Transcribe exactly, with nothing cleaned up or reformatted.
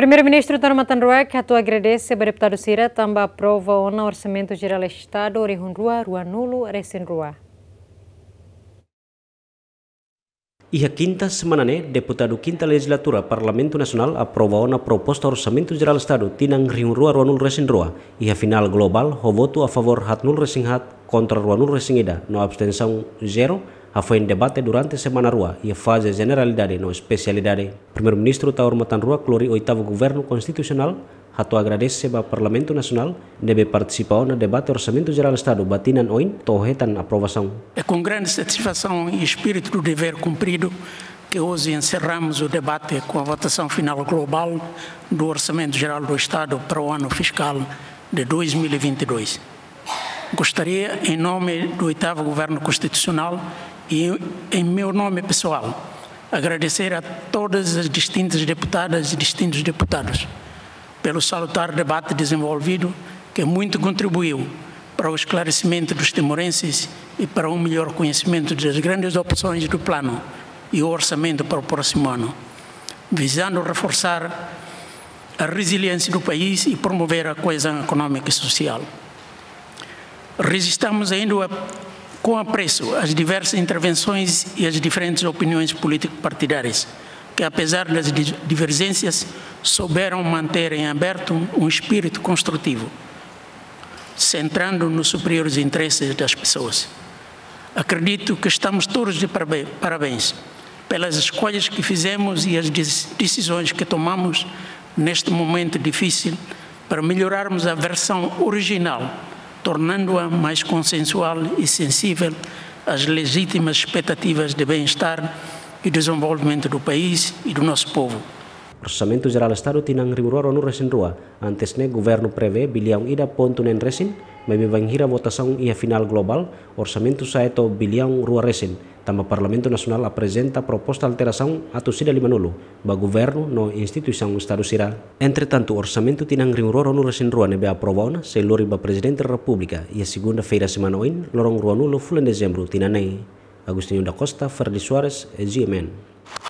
Primeiru-Ministru Taur Matan Ruak hato'o agradese ba deputadu sira tanba aprova ona Orsamentu Jerál Estadu rihun rua ruanulu resin rua. Iha kinta semana ne'e, deputadu kinta lejizlatura Parlamentu Nasionál aprova ona proposta Orsamentu Jerál Estadu tinan rihun rua ruanulu resin rua, iha final globál ho votu a favór haatnulu resin haat, kontra ruanulu resin ida, no abstensaun zero, hafoin debate durante semana rua, iha faze jeneralidade no espesialidade. Primeiru-Ministru Taur Matan Ruak lori oitavu governu konstitusionál hato'o agradese ba Parlamentu Nasionál ne'ebé partisipa ona debate Orsamentu Jerál Estadu ba tinan oin to'o hetan aprovasaun. É com grande satisfação e espírito do dever cumprido que hoje encerramos o debate com a votação final global do Orçamento Geral do Estado para o ano fiscal de dois mil e vinte e dois. Gostaria, em nome do oitavo Governo Constitucional e em meu nome pessoal, agradecer a todas as distintas deputadas e distintos deputados pelo salutar debate desenvolvido, que muito contribuiu para o esclarecimento dos timorenses e para um melhor conhecimento das grandes opções do plano e o orçamento para o próximo ano, visando reforçar a resiliência do país e promover a coesão económica e social. Registramos ainda com apreço as diversas intervenções e as diferentes opiniões político-partidárias, que, apesar das di-, divergências, souberam manter em aberto um espírito construtivo, centrando nos superiores interesses das pessoas. Acredito que estamos todos de parabéns pelas escolhas que fizemos e as dec-, decisões que tomamos neste momento difícil para melhorarmos a versão original, tornando-a mais consensual e sensível às legítimas expectativas de bem-estar e desenvolvimento do país e do nosso povo. Orsamentu Jerál Estadu tinan rihun rua ruanulu resin rua, antes ne'e governu prevee biliaun ida pontu neen resin, maibé bainhira votasaun iha final globál, orsamentu sa'e to'o biliaun rua resin, tanba Parlamentu Nasionál aprezenta proposta alterasaun atus ida limanulu ba governu no instituisaun Estadu sira. Entretantu, orsamentu tinan rihun rua ruanulu resin rua ne'ebé aprova ona sei lori ba Prezidente Repúblika iha segunda-feira semana oin, loron ruanulu fulan Dezembru tinan ne'e. Agostinho da Costa, Ferdi Soares, G M N.